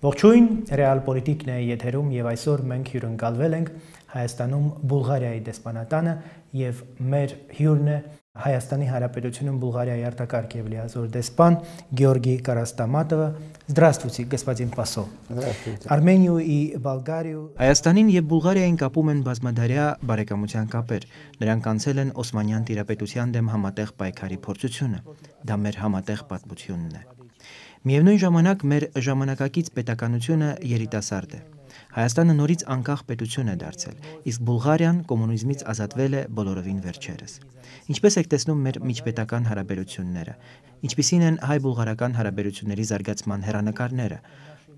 Ողջույն, Ռեալ Պոլիտիկն է եթերում եւ այսօր մենք հյուրընկալվել ենք Հայաստանում Բուլղարիայի դեսպանատանը եւ մեր հյուրն է Հայաստանի Հանրապետությունում Բուլղարիայի արտակարգ եւ լիազոր դեսպան Գեորգի Կարաստամատովը. Здравствуйте, господин посол. Здравствуйте. Արմենիու и Բուլղարիու Հայաստանին եւ Բուլղարիային կապում են բազմադարյա բարեկամության կապեր։ Նրանք անցել են Օսմանյան տիրապետության դեմ համատեղ պայքարի փորձությունը։ Դա մեր համատեղ պատմությունն է։ Միևնույն ժամանակ մեր ժամանակակից պետականությունը երիտասարդ է։ Հայաստանը նորից անկախ պետություն է դարձել, իսկ Բուլղարիան կոմունիզմից ազատվել է բոլորովին վերջերս։ Ինչպես եք տեսնում մեր միջպետական հարաբերությունները, ինչպիսին են հայ-բուլղարական հարաբերությունների զարգացման հեռանկարները։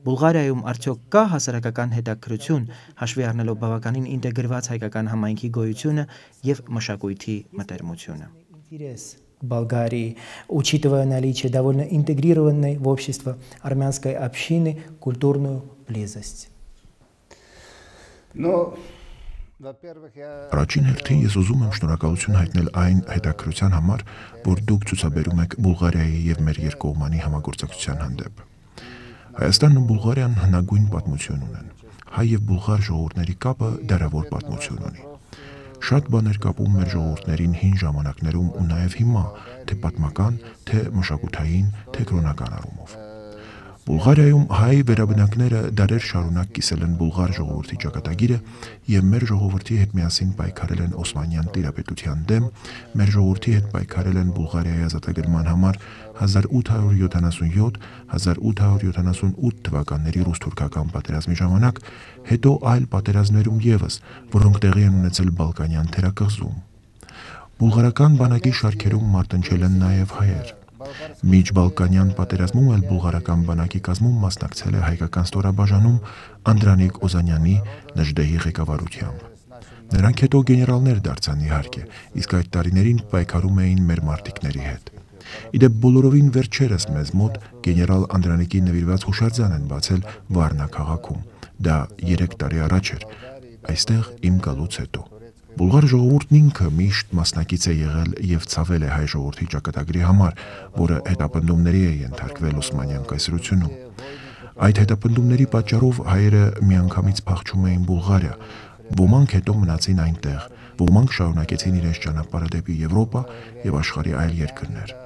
Բուլղարիայում արդյոք կա հասարակական հետաքրքրություն, հաշվի առնելով բավականին ինտեգրված հայկական համայնքի գոյությունը եւ մշակույթի մտերմությունը։ Болгарии, учитывая наличие довольно интегрированной в общество армянской общины культурную близость. Առաջին հերթին ես ուզում եմ շնորհակալություն հայտնել այն հետաքրքրության համար, որ դուք ցուցաբերում եք Բուլղարիայի եւ մեր երկկողմանի համագործակցության հանդեպ։ Հայաստանն ու Բուլղարիան հնագույն պատմություն ունեն։ Հայ եւ բուլղար ժողովուրդների կապը դարավոր պատմություն ունի։ Շատ բաներ կապում մեր ժողովուրդներին հին ժամանակներում ու նաև հիմա, թե պատմական, թե մշակութային, թե կրոնական առումով։ Բուլղարիայում հայ վերաբնակները դարեր շարունակ կիսել են բուլղար ժողովրդի ճակատագիրը եւ մեր ժողովրդի հետ միասին պայքարել են Օսմանյան տիրապետության դեմ, մեր ժողովրդի հետ պայքարել են Բուլղարիայի ազատագրման համար 1877-1878 թվականների ռուս-թուրքական պատերազմի ժամանակ, հետո այլ պատերազմներում եւս, որոնք տեղի են ունեցել Բալկանյան թերակղզում։ Բուլղարական բանակի շարքերում մարտնչել են նաեւ հայեր։ Միջբալկանյան պատերազմում էլ բուլղարական բանակի կազմում մասնակցել է հայկական ստորաբաժանում Անդրանիկ Օզանյանի Նժդեհի ղեկավարությամբ։ Նրանք հետո գեներալներ դարձան իհարկե, իսկ այդ տարիներին պայքարում էին մեր մարտիկների հետ։ Իդեպ բոլորովին վերջերս մեզ մոտ գեներալ Անդրանիկի նվիրված հուշարձան են բացել Վարնա քաղաքում։ Դա 3 տարի առաջ էր, այստեղ իմ գալուց հետո։ Բուլղար ժողովուրդն ինքը միշտ մասնակից է եղել եւ ցավել է հայ ժողովրդի ճակատագրի համար, որը հետապնդումների է ենթարկվել Օսմանյան կայսրությունում։ Այդ հետապնդումների պատճառով հայերը միանգամից փախչում էին Բուլղարիա, ոմանք հետո մնացին այնտեղ, ոմանք շարունակեցին իրենց ճանապարհը դեպի Եվրոպա եւ աշխարհի այլ երկրներ։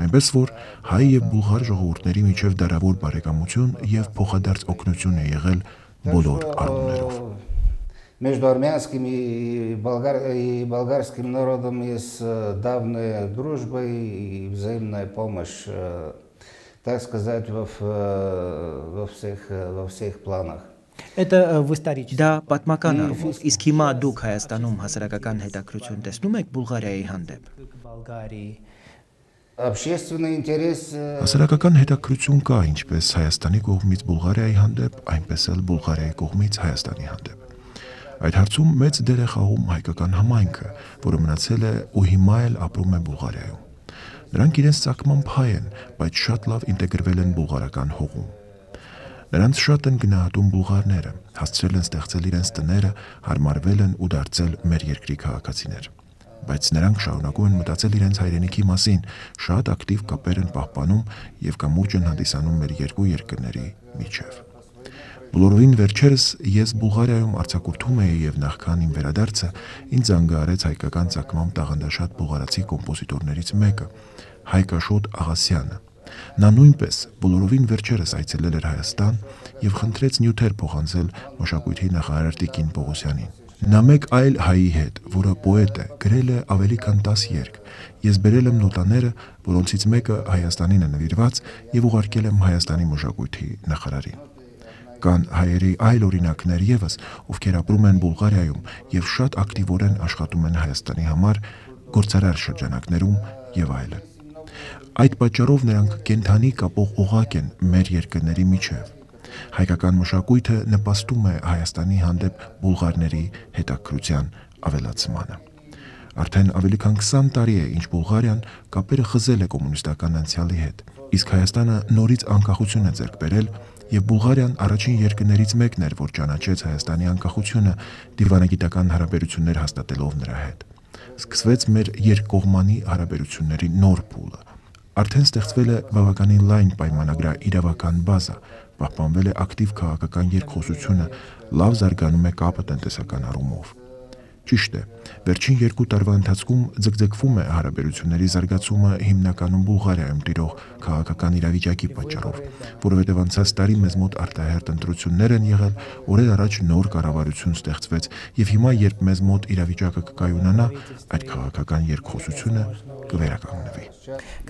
Այնպես որ հայ եւ բուլղար ժողովուրդների միջև դարավոր բարեկամություն եւ փոխադարձ օգնություն է եղել բոլոր առումներով։ Между армянским и болгарским народом есть давняя дружба и взаимная помощь, так сказать, во всех планах. Դա պատմական առումով, իսկ հիմա դուք Հայաստանում հասարակական հետաքրքրություն տեսնում եք Բուլղարիայի հանդեպ։ Հասարակական հետաքրքրություն կա ինչպես Հայաստանի կողմից Բուլղարիայի հանդեպ, այնպես էլ Բուլղարիայի կողմից Հայաստանի հանդեպ։ Այդ հարցում մեծ դեր է խաղում հայկական համայնքը, որը մնացել է ու հիմա էլ ապրում է Բուլղարիայում։ Նրանք իրենց ցակմամբ հայ են, բայց շատ լավ ինտեգրվել են բուլղարական հողում։ Նրանց շատ են գնահատում բուլղարները, հասցրել են ստեղծել իրենց տները, հարմարվել են ու դարձել մեր երկրի քաղաքացիներ։ Բայց նրանք շարունակում են մտածել իրենց հայրենիքի մասին, շատ ակտիվ կապեր են պահպանում եւ կամուրջ են հանդիսանում մեր երկու երկրների միջև։ Բոլորովին վերջերս ես Բուլղարիայում արձակուրդում էի եւ նախքան իմ վերադարձը ինձ զանգահարեց հայկական ցակմամբ տաղանդաշատ բուլղարացի կոմպոզիտորներից մեկը, Հայկաշոտ Աղասյանը։ Նա նույնպես բոլորովին վերջերս այցելել էր Հայաստան եւ խնդրեց նյութեր փոխանցել մշակույթի նախարար Տիկին Պողոսյանին։ Նա մեկ այլ հայի հետ, որը պոետ է, գրել է ավելի քան 10 երգ։ Ես բերել եմ նոտաները, որոնցից մեկը Հայաստանին է նվիրված եւ ուղարկել եմ Հայաստանի մշակույթի նախարարին։ Կան հայերի այլ օրինակներ եւս, ովքեր ապրում են Բուլղարիայում եւ շատ ակտիվորեն աշխատում են Հայաստանի համար գործարար շրջանակներում եւ այլն։ Այդ պատճառով նրանք կենթանի կապող օղակ են մեր երկրների միջև։ Հայկական մշակույթը նպաստում է Հայաստանի հանդեպ բուլղարների հետաքրքրության ավելացմանը։ Արդեն ավելի քան 20 տարի է, ինչ Բուլղարիան կապերը խզել է կոմունիստական անցյալի հետ, իսկ Հայաստանը նորից անկախություն է ձեռք բերել եւ Բուլղարիան առաջին երկրներից մեկն էր, որ ճանաչեց Հայաստանի անկախությունը դիվանագիտական հարաբերություններ հաստատելով նրա հետ։ Սկսվեց մեր երկկողմանի հարաբերությունների նոր փուլը։ Արդեն ստեղծվել է բավականին լայն պայմանագրաիրավական բազա, Պահպանվել է ակտիվ քաղաքական երկխոսությունը, լավ զարգանում է կապը տնտեսական առումով։ Ճիշտ է, վերջին 2 տարվա ընթացքում ձգձգվում է հարաբերությունների զարգացումը հիմնականում Բուլղարիայում տիրող քաղաքական իրավիճակի պատճառով, որովհետև անցած տարի մեզ մոտ արտահերթ ընտրություններ են եղել, օրեր առաջ նոր կառավարություն ստեղծվեց, եւ հիմա, երբ մեզ մոտ իրավիճակը կկայունանա, այդ քաղաքական երկխոսությունը կվերականգնվի։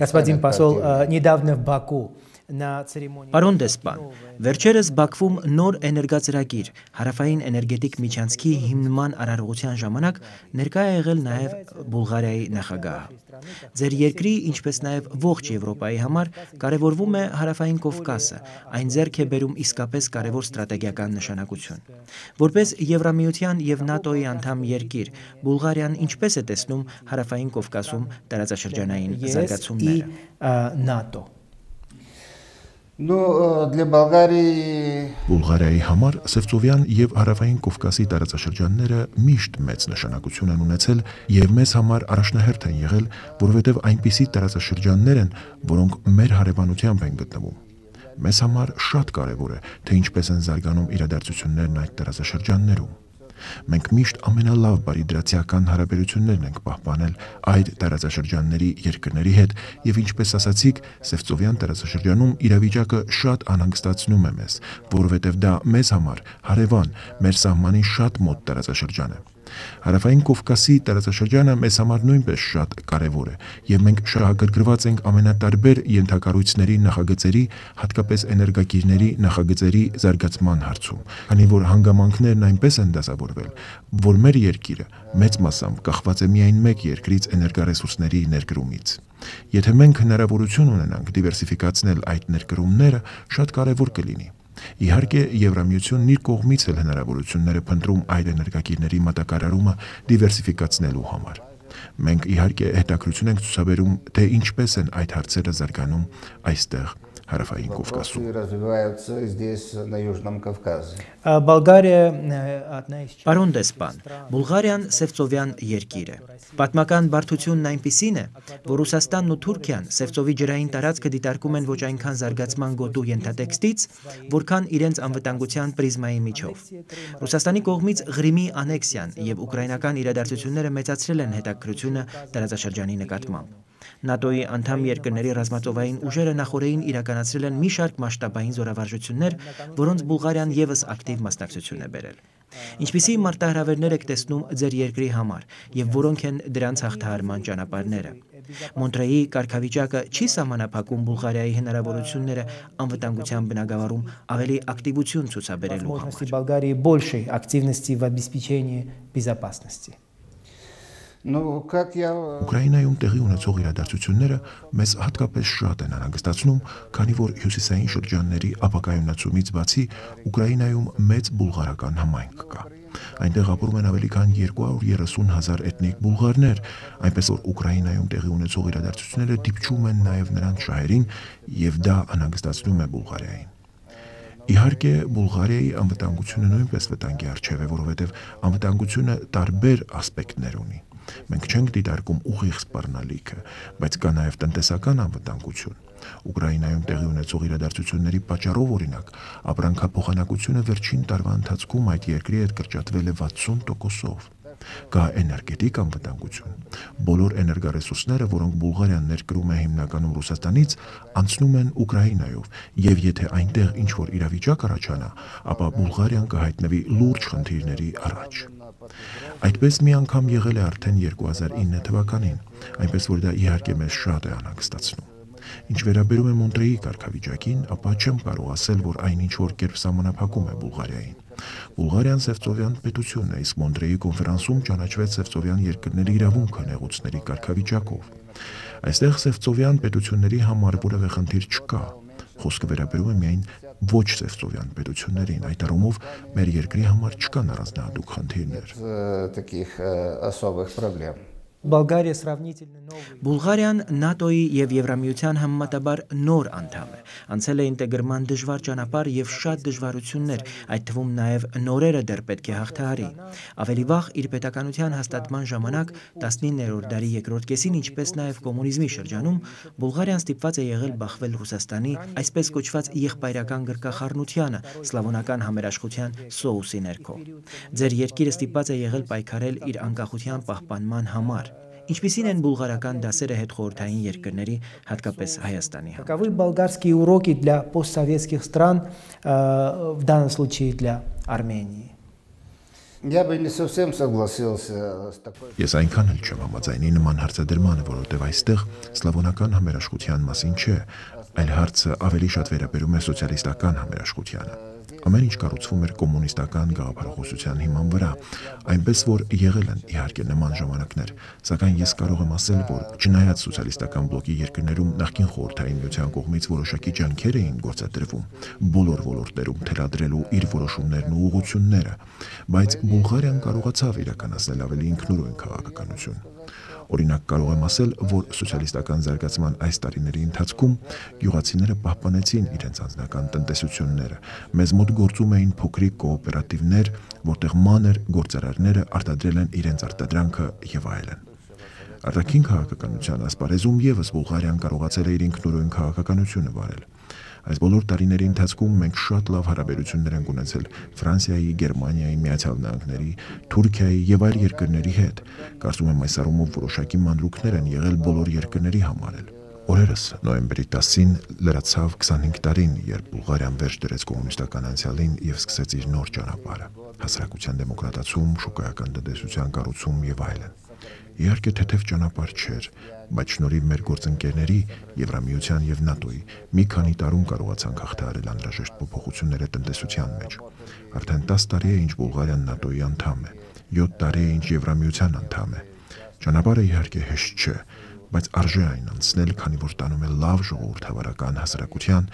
Господин посол, недавно в Баку Պարոն դեսպան, վերջերս Բաքվում նոր էներգածրագիր, հարավային էներգետիկ միջանցքի հիմնման արարողության ժամանակ ներկա է եղել նաև Բուլղարիայի նախագահը։ Ձեր երկրի, ինչպես նաև ողջ Եվրոպայի համար կարևորվում է հարավային Կովկասը, այն ձեռք է բերում իսկապես կարևոր ստրատեգիական նշանակություն։ Որպես Եվրամիության եւ ՆԱՏՕ-ի անդամ երկիր, Բուլղարիան ինչպես է տեսնում հարավային Կովկասում տարածաշրջանային զարգացումները։ ՆԱՏՕ для Болгарии Բուլղարիայի համար Սևծովյան եւ հարավային Կովկասի տարածաշրջանները միշտ մեծ նշանակություն են ունեցել եւ մեզ համար առաջնահերթ են եղել, որովհետեւ այնպիսի տարածաշրջաններ են, որոնք մեր հարևանությամբ են գտնվում։ Մեզ համար շատ կարեւոր է, թե ինչպես են զարգանում իրադարձություններն այդ տարածաշրջաններում։ Մենք միշտ ամենալավ բարիդրացիական հարաբերություններն ենք պահպանել այդ տարածաշրջանների երկրների հետ եւ ինչպես ասացիք, Սևծովյան տարածաշրջանում իրավիճակը շատ անհանգստացնում է մեզ, որովհետեւ դա մեզ համար հարևան, մեր սահմանին շատ մոտ տարածաշրջան է։ Հարավային Կովկասի տարածաշրջանը մեզ համար նույնպես շատ կարևոր է եւ մենք շահագրգռված ենք ամենատարբեր ենթակառույցների նախագծերի, հատկապես էներգակիրների նախագծերի զարգացման հարցում, քանի որ հանգամանքներն այնպես են դասավորվել, որ մեր երկիրը մեծ մասամբ կախված է միայն մեկ երկրից էներգառեսուրսների ներկրումից։ Եթե մենք հնարավորություն ունենանք դիվերսիֆիկացնել այդ ներկրումները, շատ կարևոր կլինի։ Իհարկե, Եվրամիությունն իր կողմից էլ հնարավորություններ է փնտրում այդ էներգակիրների մատակարարումը դիվերսիֆիկացնելու համար։ Մենք իհարկե հետաքրություն ենք ցուցաբերում, թե ինչպես են այդ հարցերը զարգանում այստեղ հարավային Կովկասում։ Պարոն դեսպան, Բուլղարիան Սևծովյան երկիր է։ Պատմական բարդությունն այնպիսին է, որ Ռուսաստանն ու Թուրքիան Սևծովի ջրային տարածքը դիտարկում են ոչ այնքան զարգացման գոտու ենթատեքստից, որքան իրենց անվտանգության պրիզմայի միջով։ Ռուսաստանի կողմից Ղրիմի անեքսիան եւ ուկրաինական իրադարձությունները մեծացրել են հետաքրքրությունը տարածաշրջանի նկատմամբ։ ՆԱՏՕ-ի անդամ երկրների ռազմածովային ուժերը նախորդին իրականացրել են մի շարք մասշտաբային զորավարժություններ, որոնց Բուլղարիան եւս ակտիվ մասնակցություն է բերել։ Ինչպիսի մարտահրավերներ եք տեսնում ձեր երկրի համար եւ որոնք են դրանց հաղթահարման ճանապարհները։ Մոնտրեի կարգավիճակը չի սահմանափակում Բուլղարիայի հնարավորությունները անվտանգության բնագավառում ավելի ակտիվություն ցուցաբերելու համար։ Болгарии большей активности в обеспечении безопасности. Ուկրաինայում տեղի ունեցող իրադարձությունները մեզ հատկապես շատ են անհանգստացնում, քանի որ հյուսիսային շրջանների ապակայունացումից բացի Ուկրաինայում մեծ բուլղարական համայնք կա։ Այնտեղ ապրում են ավելի քան 230,000 էթնիկ բուլղարներ, այնպես որ Ուկրաինայում տեղի ունեցող իրադարձությունները դիպչում են նաև նրանց շահերին եւ դա անհանգստացնում է Բուլղարիային։ Իհարկե, Բուլղարիայի անվտանգությունը նույնպես վտանգի առջև է, որովհետև անվտանգությունը տարբեր ասպեկտներ ունի։ Մենք չենք դիտարկում ուղիղ սպառնալիքը, բայց կա նաև տնտեսական անվտանգություն։ Ուկրաինայում տեղի ունեցող իրադարձությունների պատճառով օրինակ, ապրանքափոխանակությունը վերջին տարվա ընթացքում այդ երկրի հետ կրճատվել է 60%-ով։ Կա էներգետիկ անվտանգություն։ Բոլոր էներգառեսուրսները, որոնք Բուլղարիան ներկրում է հիմնականում Ռուսաստանից, անցնում են Ուկրաինայով, եւ եթե այնտեղ ինչ-որ իրավիճակ առաջանա, ապա Բուլղարիան կհայտնվի լուրջ խնդիրների առաջ։ Այդպես մի անգամ եղել է արդեն 2009 թվականին, այնպես որ դա իհարկե մեզ շատ է անհանգստացնում։ Ինչ վերաբերում է Մոնտրեի կարգավիճակին, ապա չեմ կարող ասել, որ այն ինչ-որ կերպ սահմանափակում է Բուլղարիային։ Բուլղարիան Սևծովյան պետությունն է, իսկ Մոնտրեի կոնֆերանսում ճանաչվեց Սևծովյան երկրների իրավունքը նեղուցների կարգավիճակով։ Այստեղ Սևծովյան պետությունների համար որևէ խնդիր չկա։ Խոսքը վերաբերում է միայն ոչ Սևծովյան պետություններին, այդ առումով մեր երկրի համար չկան առանձնահատուկ խնդիրներ։ Болгария сравнительно новый. Բուլղարիան ՆԱՏՕ-ի եւ Եվրամիության համեմատաբար նոր անդամ է։ Անցել է ինտեգրման դժվար ճանապարհ եւ շատ դժվարություններ, այդ թվում նաեւ նորերը դեռ պետք է հաղթահարի։ Ավելի վաղ իր պետականության հաստատման ժամանակ 19-րդ դարի երկրորդ կեսին, ինչպես նաեւ կոմունիզմի շրջանում, Բուլղարիան ստիպված է եղել բախվել Ռուսաստանի այսպես կոչված եղբայրական գրկախառնությանը, սլավոնական համերաշխության սոուսի ներքո։ Ձեր երկիրը ստիպված է եղել պայքարել իր անկախության պահպանման համար։ Ինչպիսին են բուլղարական դասերը հետխորհրդային երկրների, հատկապես Հայաստանի համար։ Каковы болгарские уроки для постсоветских стран, в данном случае для Армении? Я бы не совсем согласился с такой. Ես այնքան էլ չեմ համաձայնի նման հարցադրմանը, որովհետև այստեղ սլավոնական համերաշխության մասին չէ, այլ հարցը ավելի շատ վերաբերում է սոցիալիստական համերաշխությանը։ Ամեն ինչ կառուցվում էր կոմունիստական գաղափարախոսության հիման վրա, այնպես որ եղել են իհարկե նման ժամանակներ, սակայն ես կարող եմ ասել, որ չնայած սոցիալիստական բլոկի երկրներում նախկին խորհրդային միության կողմից որոշակի ջանքեր էին գործադրվում բոլոր ոլորտներում թելադրելու իր որոշումներն ու ուղղությունները, բայց Բուլղարիան կարողացավ իրականացնել ավելի ինքնուրույն քաղաքականություն։ Օրինակ կարող եմ ասել, որ սոցիալիստական զարգացման այս տարիների ընթացքում գյուղացիները պահպանեցին իրենց անձնական տնտեսությունները, մեզ մոտ գործում էին փոքրիկ կոոպերատիվներ, որտեղ մանր գործարարները արտադրել են իրենց արտադրանքը եւ այլն։ Արտաքին քաղաքականության ասպարեզում եւս Բուլղարիան կարողացել է իր ինքնուրույն քաղաքականությունը վարել։ Այս բոլոր տարիների ընթացքում մենք շատ լավ հարաբերություններ ենք ունեցել Ֆրանսիայի, Գերմանիայի, Միացյալ Նահանգների, Թուրքիայի եւ այլ երկրների հետ։ Կարծում եմ այս առումով որոշակի մանրուքներ են եղել բոլոր երկրների համար։ Օրերս նոյեմբերի 10-ին լրացավ 25 տարին, երբ Բուլղարիան վերջ դրեց կոմունիստական անցյալին եւ սկսեց իր նոր ճանապարհը՝ հասարակության դեմոկրատացում, շուկայական տնտեսության կառուցում եւ այլն։ Իհարկե թեթև ճանապարհ չէր, բայց շնորհիվ մեր գործընկերների, Եվրամիության եւ ՆԱՏՕ-ի մի քանի տարում կարողացանք հաղթահարել անհրաժեշտ փոփոխությունները տնտեսության մեջ։ Արդեն 10 տարի է, ինչ Բուլղարիան ՆԱՏՕ-ի անդամ է, 7 տարի է, ինչ Եվրամիության անդամ է։ Ճանապարհը իհարկե հեշտ չէ, բայց արժե այն անցնել, քանի որ տանում է լավ ժողովրդավարական հասարակության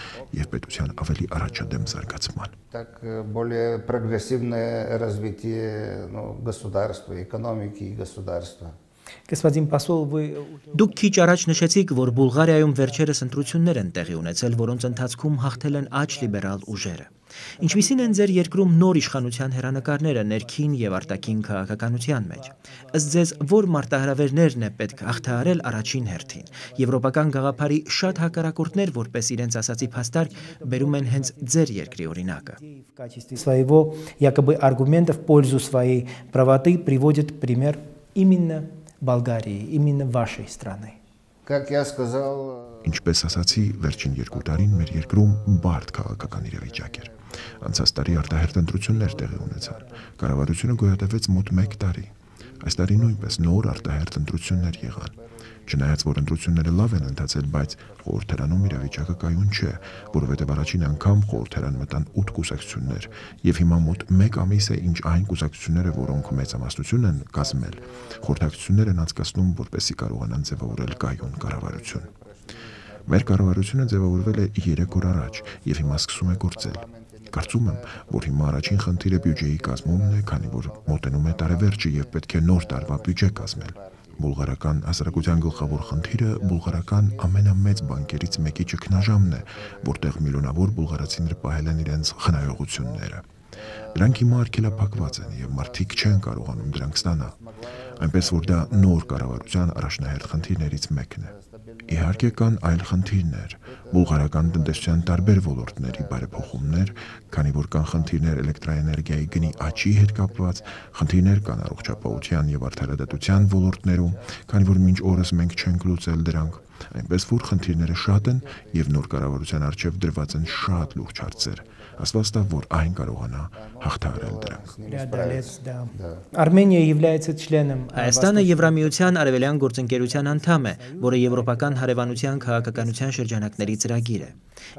եւ պետության ավելի առաջադեմ զարգացման։ Так более прогрессивное развитие, государства, экономики и государства. Господин посол, вы... Դուք քիչ առաջ նշեցիք, որ Բուլղարիայում վերջերս ընտրություններ են տեղի ունեցել, որոնց ընթացքում հաղթել են աջ լիբերալ ուժերը։ Ինչպիսին են ձեր երկրում նոր իշխանության հերանեկարները ներքին եւ արտաքին քաղաքականության մեջ։ Ըստ ձեզ, որ մարտահրավերներն է պետք հաղթահարել առաջին հերթին։ Եվրոպական գաղափարի շատ հակառակորդներ, որպես իրենց ասացի փաստարկ, բերում են հենց ձեր երկրի օրինակը։ В качестве своего якобы аргумента в пользу своей правоты приводит пример именно Болгарии, именно вашей страны. Как я сказал, Ինչպես ասացի, վերջին 2 տարին մեր երկրում բարդ քաղաքական իրավիճակ էր։ Անցած տարի արտահերթ ընտրություններ տեղի ունեցան։ Կառավարությունը գոյատևեց մոտ 1 տարի։ Այս տարի նույնպես նոր արտահերթ ընտրություններ եղան։ Չնայած որ ընտրությունները լավ են ընթացել, բայց խորհրդարանում իրավիճակը կայուն չէ, որովհետև առաջին անգամ խորհրդարան մտան 8 կուսակցություններ, եւ հիմա մոտ 1 ամիս է, ինչ այն կուսակցությունները, որոնք մեծամասնություն են կազմել, խորհրդակցություններ են անցկացնում, որպեսզի կարողանան ձևավորել կայուն կառավարություն։ Մեր կառավարությունը ձևավորվել է 3 օր առաջ եւ հիմա սկսում է գործել։ Կարծում եմ, որ հիմա առաջին խնդիրը բյուջեի կազմումն է, քանի որ մոտենում է տարեվերջը եւ պետք է նոր տարվա բյուջե կազմել։ Բուլղարական հասարակության գլխավոր խնդիրը բուլղարական ամենամեծ բանկերից մեկի ճգնաժամն է, որտեղ միլիոնավոր բուլղարացիներ պահել են իրենց խնայողությունները։ Դրանք հիմա արգելափակված են եւ մարդիկ չեն կարողանում դրանք ստանալ։ Այնպես որ դա նոր կառավարության առաջնահերթ խնդիրներից մեկն է։ Իհարկե կան այլ խնդիրներ, բուլղարական տնտեսության տարբեր ոլորտների բարեփոխումներ, քանի որ կան խնդիրներ էլեկտրաէներգիայի գնի աճի հետ կապված, խնդիրներ կան առողջապահության եւ արդարադատության ոլորտներում, քանի որ մինչ օրս մենք չենք լուծել դրանք, այնպես որ խնդիրները շատ են եւ նոր կառավարության առջեւ դրված են շատ լուրջ հարցեր։ Ասվածտա, որ այն կարողանա հաղթահարել դրանք։ Արմենիա является членом Հայաստանը Եվրամիության արևելյան գործընկերության անդամ է, որը եվրոպական հարևանության քաղաքականության շրջանակների ծրագիր է։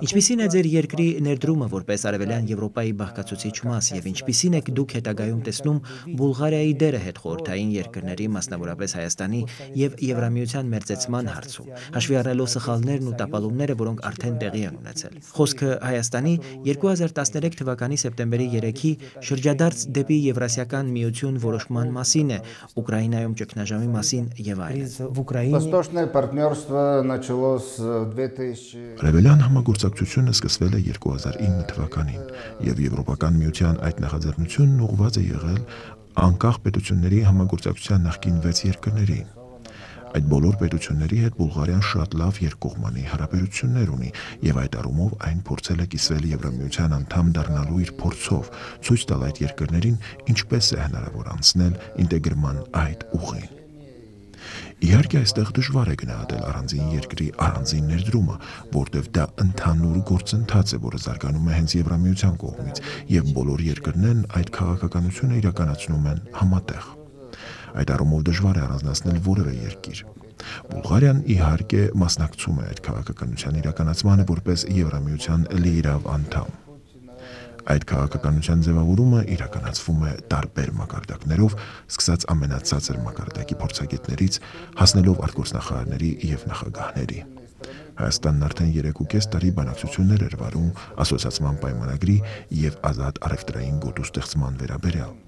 Ինչպիսին է ձեր երկրի ներդրումը որպես արևելյան Եվրոպայի բաղկացուցիչ մաս եւ ինչպիսին եք դուք հետագայում տեսնում Բուլղարիայի դերը հետխորհրդային երկրների, մասնավորապես Հայաստանի եւ Եվրամիության մերձեցման հարցում, հաշվի առնելով սխալներն ու տապալումները, որոնք արդեն տեղի են ունեցել։ Խոսքը Հայաստանի 2013 թվականի սեպտեմբերի 3-ի Գյորգի շրջադարձ դեպի Եվրասիական միություն որոշման մասին է, Ուկրաինայում ճգնաժամի մասին եւ այլն։ Восточное партнерство началось в 2000 Արևելյան համագործակցությունը սկսվել է 2009 թվականին եւ Եվրոպական միության այդ նախաձեռնությունն ուղղված է եղել անկախ պետությունների համագործակցության նախկին 6 երկրներին։ Այդ բոլոր պետությունների հետ Բուլղարիան շատ լավ երկկողմանի հարաբերություններ ունի եւ այդ առումով այն փորձել է կիսվել Եվրամիության անդամ դառնալու իր փորձով, ցույց տալ այդ երկրներին ինչպես է հնարավոր անցնել ինտեգրման այդ ուղին։ Իհարկե այստեղ դժվար է գնահատել առանձին երկրի առանձին ներդրումը, որտեղ դա ընդհանուր գործընթաց է, որը զարգանում է հենց Եվրամիության կողմից, եւ բոլոր երկրներն այդ քաղաքականությունը իրականացնում են համատեղ։ Այդ առումով դժվար է առանձնացնել որևէ երկիր։ Բուլղարիան իհարկե մասնակցում է այդ քաղաքականության իրականացմանը որպես Եվրամիության լիիրավ անդամ։ Այդ քաղաքականության ձևավորումը իրականացվում է տարբեր մակարդակներով, սկսած ամենացածր մակարդակի փորձագետներից, հասնելով արտգործնախարարների եւ նախագահների։ Հայաստանն արդեն 3.5 տարի բանակցություններ էր վարում ասոցիացիան պայմանագրի եւ ազատ առևտրային գոտու ստեղծման վերաբերյալ։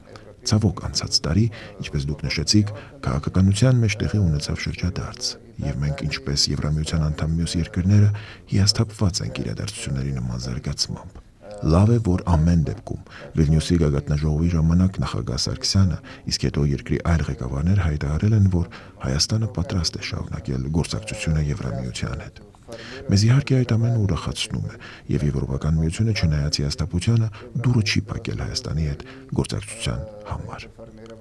Ցավոք անցած տարի, ինչպես դուք նշեցիք, քաղաքականության մեջ տեղի ունեցավ շրջադարձ, եւ մենք ինչպես Եվրամիության անդամ մյուս երկրները հիասթափված ենք իրադարձությունների նման զարգացմամբ։ Լավ է, որ ամեն դեպքում Վիլնյուսի գագաթնաժողովի ժամանակ նախագահ Սարգսյանը, իսկ հետո երկրի այլ ղեկավարներ հայտարարել են, որ Հայաստանը պատրաստ է շարունակել գործակցությունը Եվրամիության հետ։ Մեզ իհարկե այդ ամենը ուրախացնում է, եւ Եվրոպական միությունը չնայած հիասթափությանը դուրը չի փակել Հայաստանի հետ գործակցության համար։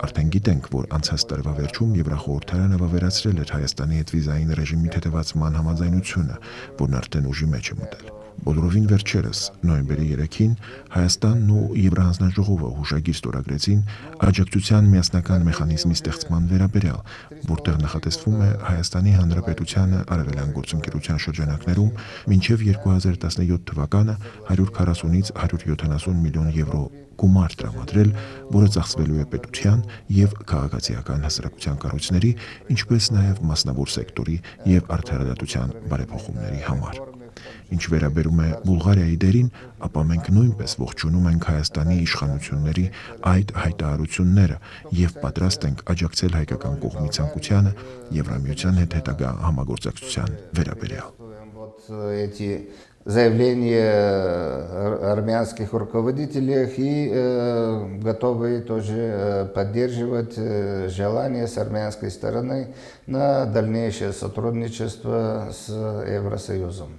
Արդեն գիտենք, որ անցած տարվա վերջում Եվրախորհրդարանը վավերացրել էր Հայաստանի հետ վիզային ռեժիմի թեթևացման համաձայնությունը, որն արդեն ուժի մեջ է մտել։ Բոլորովին վերջերս, նոյեմբերի 3-ին, Հայաստանն ու Եվրահանձնաժողովը հուշագիր ստորագրեցին աջակցության միասնական մեխանիզմի ստեղծման վերաբերյալ, որտեղ նախատեսվում է Հայաստանի Հանրապետությանը արևելյան գործընկերության շրջանակներում մինչև 2017 թվականը 140-ից 170 միլիոն եվրո գումար տրամադրել, որը ծախսվելու է պետության եւ քաղաքացիական հասարակության կառույցների, ինչպես նաեւ մասնավոր սեկտորի եւ արդարադատության բարեփոխումների համար։ Ինչ վերաբերում է Բուլղարիայի դերին, ապա մենք նույնպես ողջունում ենք Հայաստանի իշխանությունների այդ հայտարարությունները եւ պատրաստ ենք աջակցել հայկական կողմի ցանկությանը Եվրամիության հետ հետագա համագործակցության վերաբերյալ։ Эти заявления армянских руководителей и готовы тоже поддерживать желание с армянской стороны на дальнейшее сотрудничество с Евросоюзом.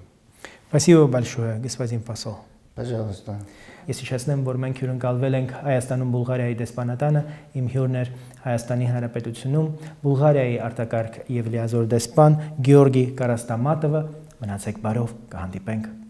Спасибо большое, господин посол. Пожалуйста. Ես հիշեցնեմ, որ մենք հյուրընկալվել ենք Հայաստանում Բուլղարիայի դեսպանատանը, իմ հյուրն էր Հայաստանի Հանրապետությունում Բուլղարիայի արտակարգ եւ լիազոր դեսպան Գյորգի Կարաստամատովը։ Մնացեք բարով, կհանդիպենք